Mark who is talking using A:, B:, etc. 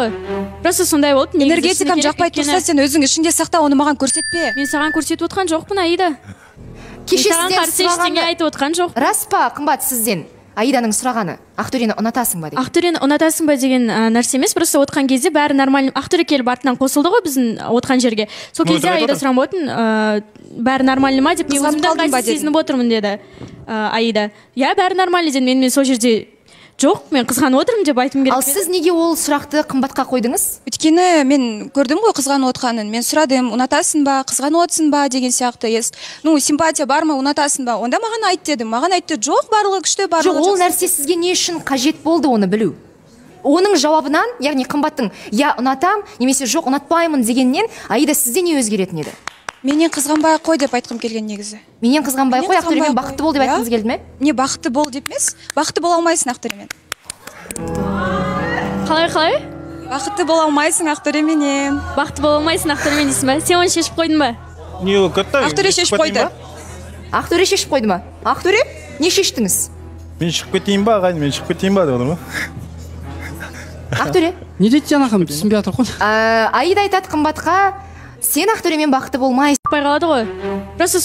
A: ғой. Просто сондай болды.
B: Энергетикам жақпай тұрса, сен өзің ішіңде сақта, оны маған көрсетпе.
A: Мен саған көрсетіп отқан жоқпын, Аида.
C: Кеше сізден
A: сұрағаны айтып отқан жоқ.
C: Рас па, қымбат сізден? Аиданың сұрағаны, Ақтөрені ұнатасың ба деген.
A: Ақтөрені ұнатасың ба деген нәрсе емес, просто отқан кезде бәрі нормально. Ақтөре келіп артынан қосылды ғой біздің отқан жерге. Сол кезде Аида сұрамап отыр, бәрі нормально ма деп, мен өзімді ыңғайсыз сезініп отырмын деді Аида. Я, бәрі нормально дедім, мен сол жерде жоқ, мен қызғанып отырмын деп айтым керек.
C: Ал сіз неге ол сұрақты қымбатқа қойдыңыз?
B: Өйткені мен көрдім ғой қызғанып отқанын. Мен сұрадым, ұнатасың ба, қызғанып отырсың ба деген сияқты. Ну, симпатия бар ма, ұнатасың ба? Онда маған айт дедім. Маған айтты, жоқ, барлығы күшті, барлығы
C: жоқ. Ол нәрсе сізге не үшін қажет болды оны білу? Оның жауабынан, яғни қымбаттың я ұнатам, немесе жоқ ұнатпаймын дегеннен Аида сізде не өзгеретін еді?
B: Менен қызғанбай қой деп айтқым келген негізі.
C: Менен қызғанбай қой, Ақтөремен бақытты бол деп айтқыңыз келді ме?
B: Не бақытты бол деп емес, бақытты бола алмайсың Ақтөремен.
A: Қалай?
B: Бақытты бола алмайсың Ақтөременен.
A: Бақытты бола алмайсың Ақтөремен дейсің ба? Сен оны шешіп қойдың ба?
D: Не ол кетті?
B: Ақтөре шешіп қойды.
C: Ақтөре шешіп қойды ма? Ақтөре, не шештіңіз?
D: Мен шығып кетейін ба, ағайын, мен шығып кетейін ба деп отырмын.
C: Ақтөре?
E: Не дейді жаңағы түсінбей жатыр ғой.
C: Аида айтады қымбатқа, сен Ақтөремен бақытты болмайсың.
A: Қалады ғой. Просто